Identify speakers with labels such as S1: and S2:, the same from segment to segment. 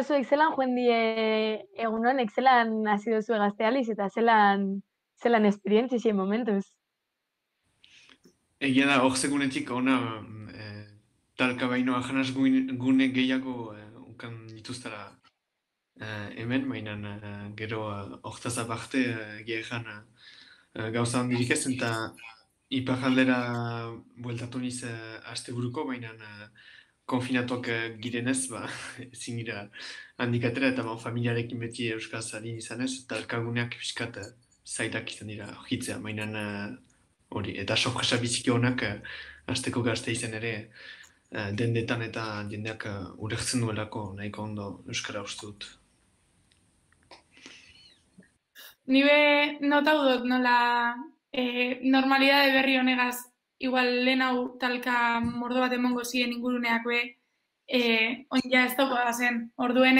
S1: zuek zelan joan die egun honek, zelan hasi duzu gaztealiz eta zelan esperientzia momentuz.
S2: Egia da, hor segunetik ona talka baino ahanas gune gehiago ukan dituztara hemen, mainan gero hortaz aparte egia ezan gauza handirik ez, eta iparraldera bueltatu niz asteburuko, mainan konfinatuak girenez, ba, ezin gira handik atera, eta familiarekin beti euskaz ari izanez, talkaguneak pixkat zailak izan dira hitzea, mainan hori, eta sorpresa biziki honak hasteko gazte izan ere dendetan eta jendeak ulertzen duelako nahiko ondo euskara uste dut.
S3: Ni be notau dut nola normalidade berri honegaz igual lehen hau talka mordo bat emongo ziren inguruneak be on ja ez dago zen. Orduen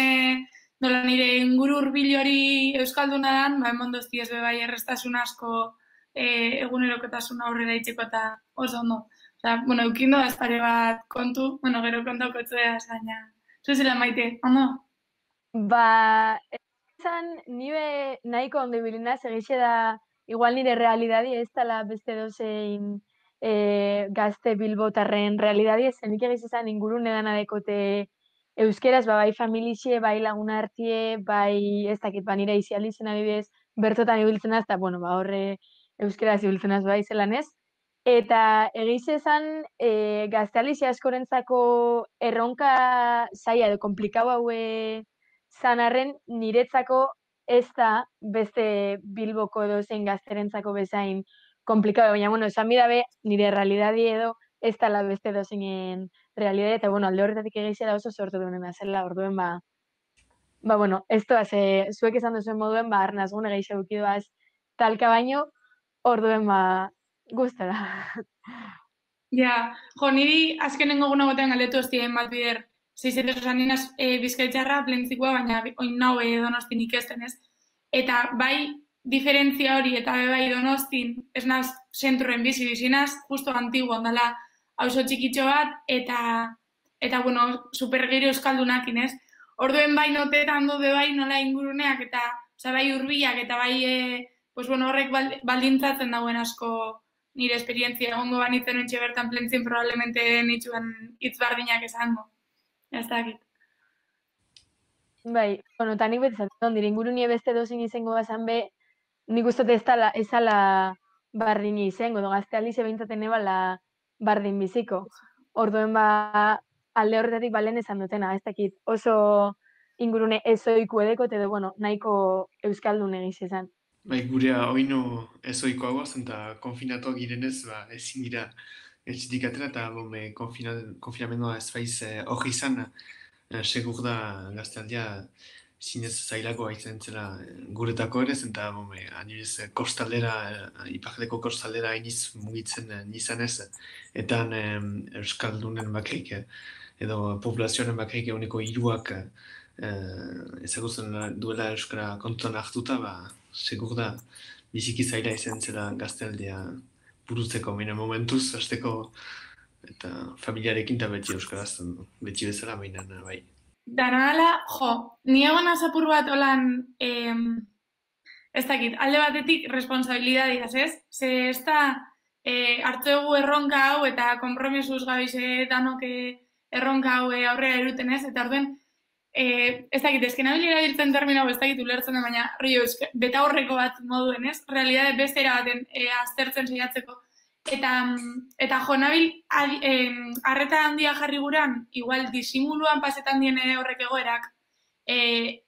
S3: nola nire inguru hurbil hori euskalduna dan, ba emondosti ez be bai errestasun asko egunerokotasun aurrera itzeko eta oso ondo. Osea, bueno, eukindo da pare bat kontu, bueno, gero kontauko etzuea baina. Zuzela maite, ondo?
S1: Ba, izan, nire nahiko ondo ibilinaz, egixe da, igual nire realidadi ez dela beste dozein gazte bilbotarren realidadi, zenik egiz izan ingurune dana dekote euskeraz, ba, bai familixe, bai laguna hartie, bai ez dakit, ba, nire izializen adibidez, bertotan ibiltzen az, eta, bueno, ba, horre euskeraz ibiltzen az, bai zelan ez. Eta egiz esan, gaztealize askorentzako erronka zaila edo komplikau haue zan arren niretzako ez da beste Bilboko edo zein gazterentzako bezain komplikado, baina, bueno, esan bidabe, nire realidadi edo ez dala beste dozeinen realidadi, eta, bueno, alde horretatik egizia da oso sortu duen zela, orduen, bueno, ez doaz, zuek esan duzuen moduen, ba, arnaz gune gehiago bukidoaz talka baino, orduen, guztara.
S3: Ja, jo, niri azkenengo guna gotean galdetu hostien bat bider, zeizetu esan ninaz bizkaitzarra plentzikoa, baina oin nau donostin ikesten ez. Eta bai, diferentzia hori eta bai donostin, ez naz, zentroen bizinaz, justo antigu ondala hauso txikitxo bat, eta bueno, supergero euskaldunak inez. Orduen bai notetan dode bai nola inguruneak, eta oza, bai urbilak, eta bai, pues bueno, horrek baldintzatzen dauen asko nire esperientzia egongo banitzen ontxe bertan plentzien probablemente nituen hitz bardinak esango. Ez dakit.
S1: Bai, bueno, eta nik beti zaten nire ingurunie beste dozin izango bazan be, nik uste ez ala bardini izango, do gazte alize behintzaten ebala bardin biziko. Orduen ba, alde horretatik balen esan dutena, ez dakit oso ingurune ezoiku edeko, edo, bueno, nahiko euskaldun egiz izan.
S2: Bai, gurea oino ezoikoagoa zen eta konfinatuak girenez, ba, ezin gira etxitik atera eta konfinamendua ez baiz hori izan, segur da gaztealdia zinez zailako haitzen zela guretako ere, eta adibidez kostaldera, iparraldeko kostaldera hainiz mugitzen nizanez, eta euskaldunen bakrik, edo populazioaren bakrik eguneko hiruak ezagutzen duela euskara kontutan hartuta, ba, segur da biziki zaila izan zela gaztealdea burutzeko, baina momentuz, hasteko eta familiarekin eta beti euskaraz, beti bezala, baina bai.
S3: Dana ala, jo, ni egon azapur bat olan, ez dakit, alde batetik responsabilidadiaz, ez? Ze ez da hartu dugu erronka hau eta kompromisuz gabize danok erronka hau aurrera eruten, ez? Eta orduen, ez dakit, ezken abilera biltzen termino, ez dakit ulertzen da, baina beta horreko bat moduen, ez? Realidade beste erabaten aztertzen saiatzeko. Eta jo, nabil, arreta handia jarri guran, igual disimuluan pasetan diene horrek egoerak,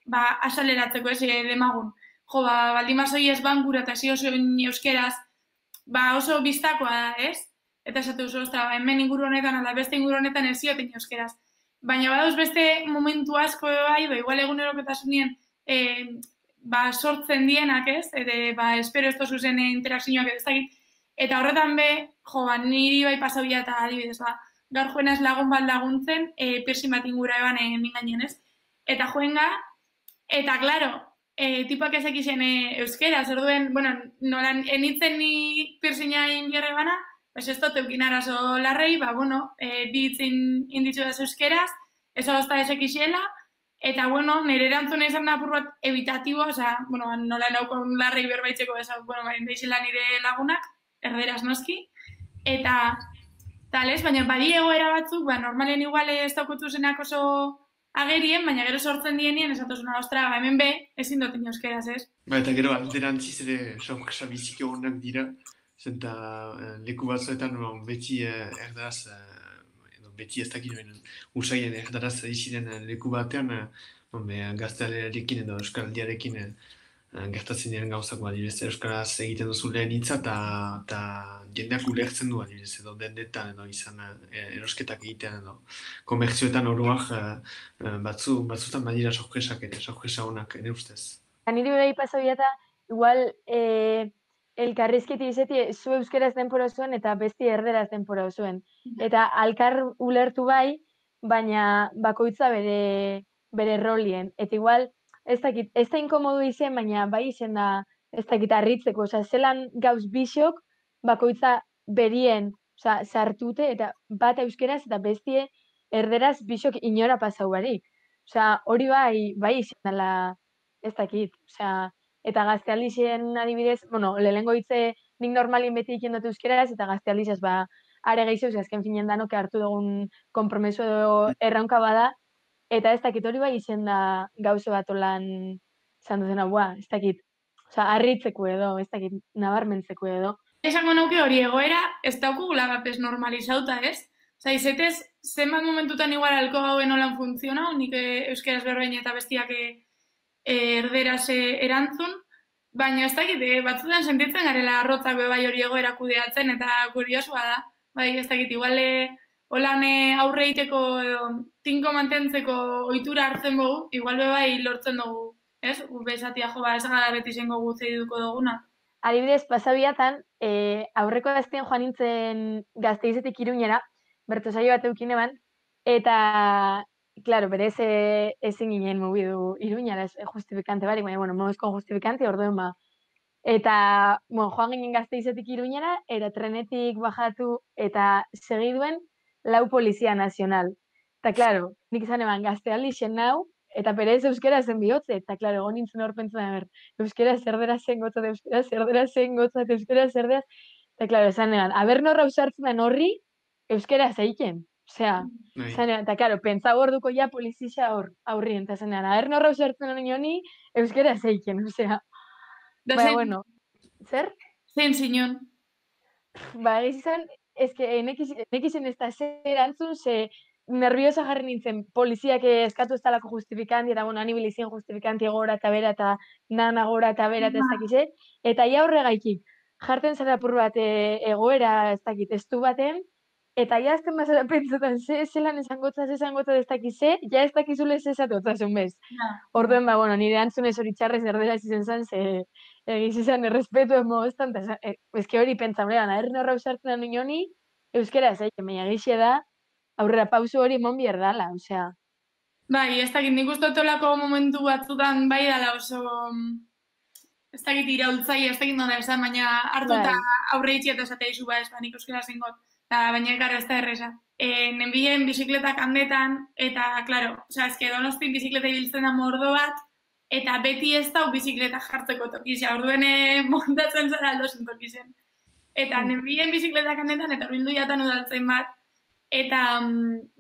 S3: ba, asaleratzeko ez demagun. Jo, ba, baldimazoi ez bankura eta zi oso euskeraz, ba, oso biztakoa da, ez? Eta esatu oso, hemen inguru honetan, ala beste inguru honetan ez zioten euskeraz. Baina badauz beste momentu asko bai, ba, igual egunerokotasunien ba, sortzen dienak, ez? Ba, espero ez tozu zen interakzioak ez dakit. Eta horretan be, jo, ba, niri bai pasauia eta adibidez, ba, gaur joenaz lagun bat laguntzen, piercing bat ingura eban mingainen, ez? Eta joenga, eta, klaro, tipuak ezek izen euskera, zer duen, bueno, nolan enitzen ni piercinga inbiarre bana, pues ez dut eukin arazo larrei, ba, bueno, ditzen inditzu da euskeraz, ez hozta ezek izela, Eta, bueno, nire erantzuna izan da apur bat evitatibo, bueno, nola naukon larrei berbaitzeko bueno, deixela nire lagunak, erderaz noski, eta tales, baina badi egoera batzuk, normalen igual ez daukotu zenak oso agerien, baina gero sortzen dienien esatuzuna, ostra, hemen be, ezin dut euskeraz, ez?
S2: Eta gero alderantziz ere sorpresa biziki honak dira, zenta leku batzuetan beti erdaraz, beti ez dakit benen usaien erdaraz iziren leku batean, gaztealearekin edo euskaraldiarekin gertatzen diren gauzak, adibidez, euskaraz egiten duzu lehen hitza eta jendeak ulertzen du, adibidez, edo dendetan edo izan erosketak egitean edo komertzioetan oroak batzutan badira sorpresak eta sorpresa honak, ere ustez.
S1: Niri bai pasabia eta igual elkarrizketi izeti zu euskeraz denpora zuen eta besti erderaz denpora zuen. Eta alkar ulertu bai, baina bakoitza bere rolien. Eta igual, ez da inkomodu izen, baina bai izen da, ez dakit harritzeko. Osa, zelan gauz bisok bakoitza berien sartute eta bat euskeraz eta bestie erderaz bisok inora pasau barik. Osa, hori bai izen dela, ez dakit, eta gaztealdixen adibidez, bueno, lehengo hitze nik normalin beti iken dut euskeraz, eta gaztealdixez, are gehiago, azken finen danok hartu dugun konpromeso edo erraunka bada, eta ez dakit hori bai izen da gauze bat olan izan duzena, ez dakit, harritzeko edo, ez dakit, nabarmentzeko edo.
S3: Esango nuke hori egoera, ez daukugula bapes normalizauta, ez? Izetez, zenbat momentutan igual alko gauen holan funtzionau, nik euskeraz berbein eta bestiak erderaz erantzun, baina ez dakit, batzutan sentitzen garela arrotzak bai hori egoera kudeatzen eta kuriosua da. Bai, ez dakit, igual holan aurre egiteko edo tinko mantentzeko ohitura hartzen dugu, igual bai lortzen dugu, ez? Bezatia jo, ez gara beti zengo guzti duko duguna.
S1: Adibidez, pasabiatan, aurreko gaztien joan nintzen Gasteizetik Iruñera, bertsosaio bat eukin eban, eta claro, berez ezin ginen mugidu Iruñara, justifikante barik, baina, bueno, moizko justifikante, orduen ba. Eta, bueno, joan ginen Gasteizetik Iruñera, eta trenetik bajatu, eta segiduen lau polizia nazional. Eta, claro, nik izan eban gaztealdixen nau, eta berez euskera zen bihotze, eta, claro, egon nintzen hor pentsa euskera zerdera zen gotzat, euskera zerdera zen gotzat, euskera zerderaz, eta, claro, esan eban, aber norra usartzen den horri, euskera zeiken. Osea, eta, claro, pentsa gorduko ja polizia aurrien, eta zenean, aber norra usartzen den honi, euskera zeiken, osea. Baina, bueno, zer?
S3: Zein zinon.
S1: Egiz izan, nekizien ez da zer erantzun, ze nerviosa jarri nintzen poliziak eskatu ez talako justifikanti, eta bueno, anibilizien justifikanti gora eta bera, eta nana gora eta bera, eta ez dakize, eta ia horregaikik, jarten zara apur bat egoera, ez dakit, estu baten, eta ja azten bazara pentsotan, zelan esangotzaz ez dakize, ja ez dakizule zezatotzazun bez. Orduen, bueno, nire antzunez hori txarrez erderaz izen zan, ze egiz izan errespetu emo estan, ezke hori pentsamlean, erren horra usartzen da honi, euskera ez aiken, baina egixe da, aurrera pausu hori emon bierdala, osea.
S3: Bai, ez dakit, nik uste otolako momentu batzutan bai dala oso, ez dakit iraultzai, ez dakit nola esan, baina hartu eta aurre itxi eta esatea izu ba ez, nik euskera zengot, baina gara ez da erresa. Nenbien bizikletak handetan, eta, klaro, ezke Donostin bizikleta ibiltzen da mordo bat, eta beti ez dau bizikleta jartzeko tokizia, orduen montatzen zara aldozen tokizen. Eta nenbien bizikletak handetan, eta horbildu jatan udaltzen bat, eta,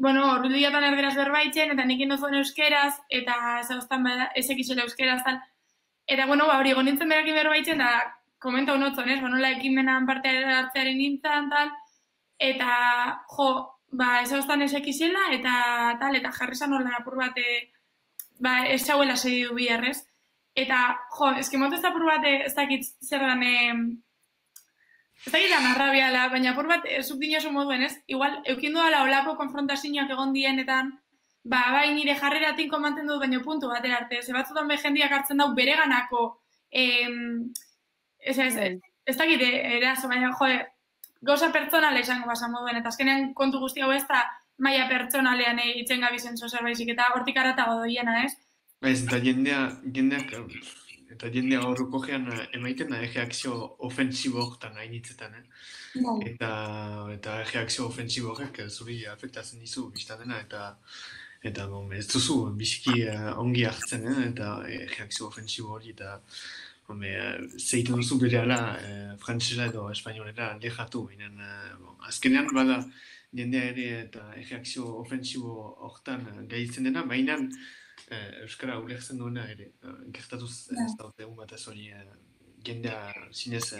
S3: bueno, horbildu jatan erderaz berbaitzen, eta nik indozuen euskeraz, eta zauztan ezekizela euskeraz, tal. Eta, bueno, hori gonintzen berakin berbaitzen, da, komenta honotzen, ez, nola ekimenan parte hartzearen nintzen, tal, eta, jo, ez zauztan ezekizela, eta tal, eta jarrizan horren apur bat, ez zauela segi du biharrez. Eta, jo, eskimotu ez da apur bat, ez dakit zer dan, ez dakit dan arrabiala, baina apur bat, zuk dinosu moduen, ez? Igual, eukindu dala olako konfrontazioak egon dienetan, bai nire jarrera tinko mantendu dut, baina puntu batera arte. Ze batzutan jendiak hartzen dau bereganako, ez dakit erazo, baina, jo, gauza pertsonala izango basan moduen, eta azkenean kontu guzti hau ez da, maila pertsonalean itzen gabizen zozer baizik, eta hortik aratago doiena, ez?
S2: Ez, eta jendeak, eta jendea horroko gean emaiten da reakzio ofensibo horretan hainitzetan, eta reakzio ofensibo horrek zuri afektatzen dizu biztatena, Eta ez duzu biziki ongi hartzen, eta reakzio ofensibo hori, eta zeitu duzu berehala frantzesa edo espainolera lehatu. Azkenean bada jendea ere eta reakzio ofensibo hortan gaitzen dena, baina Euskara ulertzen duena ere. Gertatuz ez daute egun bat ez hori jendea zinez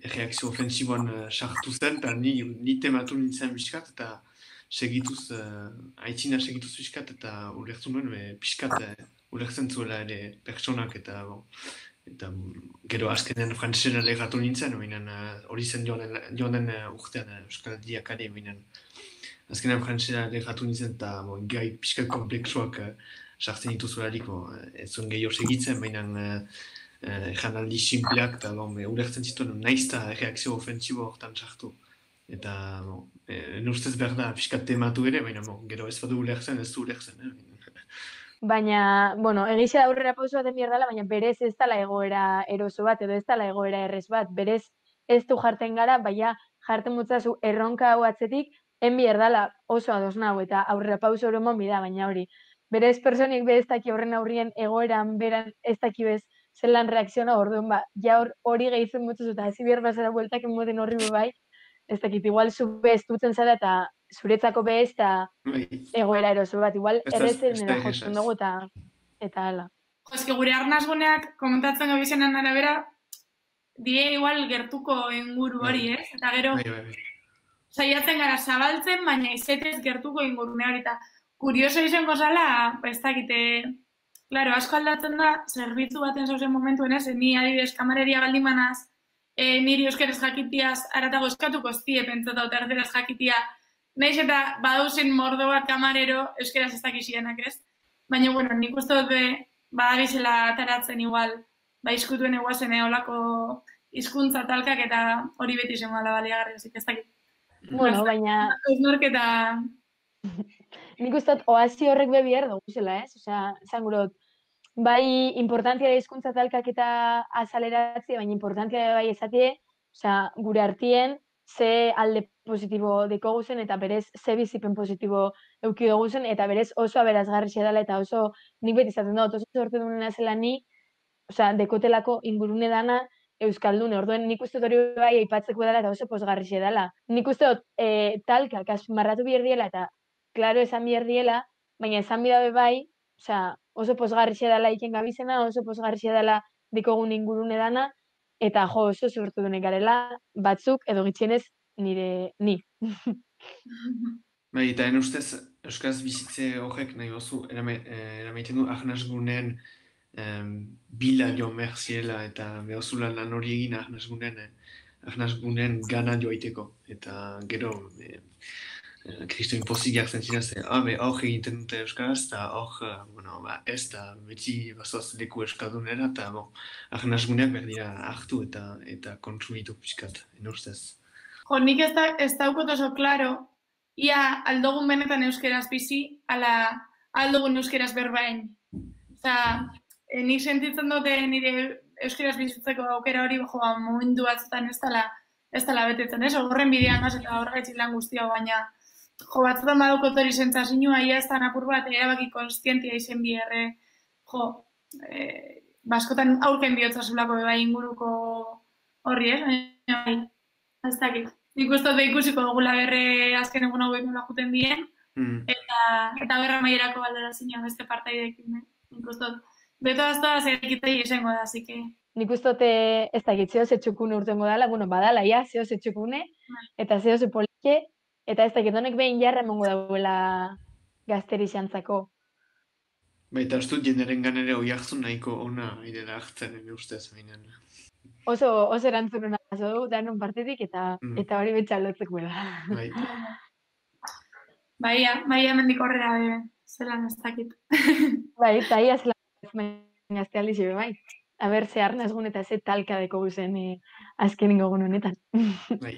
S2: reakzio ofensiboan sartu zen, eta ni tematu nintzen biskat, eta segituz, aitzina segituz pixkat, eta ulertu nuen, pixkat ulertzen zuela ere pertsonak, eta gero azkenean frantzesera legatu nintzen, hori zen joan den urtean Euskal Diakare, azkenean frantzesera legatu nintzen, eta gai pixkat kompleksuak sartzen dituzularik, ez zuen gehiago segitzen, janaldi simpleak, eta ulertzen zituen naizta reakzio ofensibo hortan sartu. Eta, ustez behar da, pixkat tematu ere, baina gero ez badu ulertzen, ez du ulertzen.
S1: Baina, bueno, egixe da aurrera pauso baten behar dela, baina berez ez dela egoera eroso bat, edo ez dela egoera errez bat. Berez ez du jartzen gara, baina jartzen mutzazu erronka hau atzetik, behar dela oso ados nahu, eta aurrera pauso horomon bida, baina hori. Berez personik be ez daki horren aurrien egoeran beran ez daki bez zelan reakziona orduan, ja hori gehitzen mutzazu, eta hasi behar bazara bueltak emoten horri bai, ez dakit, igual zu bez dutzen zara, eta zuretzako bez, eta egoera eroso bat, igual errezen era jotzen dugu eta hala.
S3: Jo, gure arnazguneak komentatzen gabizenan arabera, die igual gertuko inguru hori, Eta gero, saiatzen gara zabaltzen, baina izetez gertuko ingurune hori, eta kurioso izango zala, ez dakite, claro, asko aldatzen da, zerbitzu baten zauzen momentuen ez, ni adibidez kamareria baldimanaz, niri euskeraz jakitiaz aratago eskatuko ztie pentsata eta erderaz jakitia, nahiz eta badauzen mordo bat kamarero euskeraz ez dakizienak ez. Baina, bueno, nik uste dut badabizela ataratzen igual, izkutuen eguazen olako hizkuntza talkak eta hori beti zen gala baliagarri, ez dakit.
S1: Bueno, baina...
S3: Eusnorketa...
S1: Nik uste dut oazi horrek behar dugu zela, ez? Osea, zan gurot, bai importantia da hizkuntza talkak eta azaleratzi, baina importantia da bai esatie, osea, gure artien, ze alde positibo deko guzen, eta berez ze bizipen positibo euki dugu zen, eta berez oso aberazgarri dela, eta oso nik beti izaten dut, oso sortu dunena zela ni, osea, dekotelako ingurune dana euskaldune, orduen nik uste dut hori bai aipatzeko dela, eta oso posgarri dela. Nik uste dut talkak azpimarratu behar diela, eta klaro esan behar diela, baina esan bidabe bai, osea, oso posgarri dela iken gabizena, oso posgarri dela dikogun ingurune dana, eta jo, oso sortu dunek garela, batzuk edo gitxienez ni.
S2: Bai, eta ustez, euskaz bizitze horrek nahi gozu, eramaiten du ahnazgunen bila jo merziela eta behozula lan hori egin ahnazgunen gana joaiteko. Eta gero, kristo impozik jartzen zinaz, hor egiten dute euskaraz, eta hor, ez da beti bazoaz leku euskaldunera, eta ahnazguneak berdira hartu eta kontsumitu pixkat, ustez.
S3: Jo, nik ez daukot oso klaro, ia aldogun benetan euskeraz bizi, ala aldogun euskeraz berbain. Osa, nik sentitzen dute nire euskeraz bizitzeko aukera hori, momentu batzutan ez dela betetzen, ez? Horren bidean gaz eta horregaitzik lan guztia, baina batzutan badukot hori sentzazinua, ia ez da napur bat, erabaki konstientia izen biherre, baskotan aurken bihotzazulako bebai inguruko horri, ez? Ez dakit. Nik uste dut ikusiko dugula berre azken egun hauek nola juten dien, eta berra maierako baldera zinean beste partaidekin. Nik uste dut, beto aztoa zerikitei izango da, así que...
S1: Nik uste dut ez dakit zeo zetxukune urtengo dala, bueno, badala, ja, zeo zetxukune, eta zeo zepolike, eta ez dakit honek behin jarra emongo dauela gazteri xantzako.
S2: Baita, ez dut jenderen ganere hoi hartzun nahiko ona idela hartzen, ustez, baina.
S1: Oso erantzununa aso dugu, danon partetik, eta hori betxalotzeko da.
S3: Baia mendik horrela zelan ez dakit.
S1: Bai, eta ia zelan azte aldixe be, bai. Aber, ze arnazgun eta ze talka deko guzen azken ingogun honetan.
S2: Bai.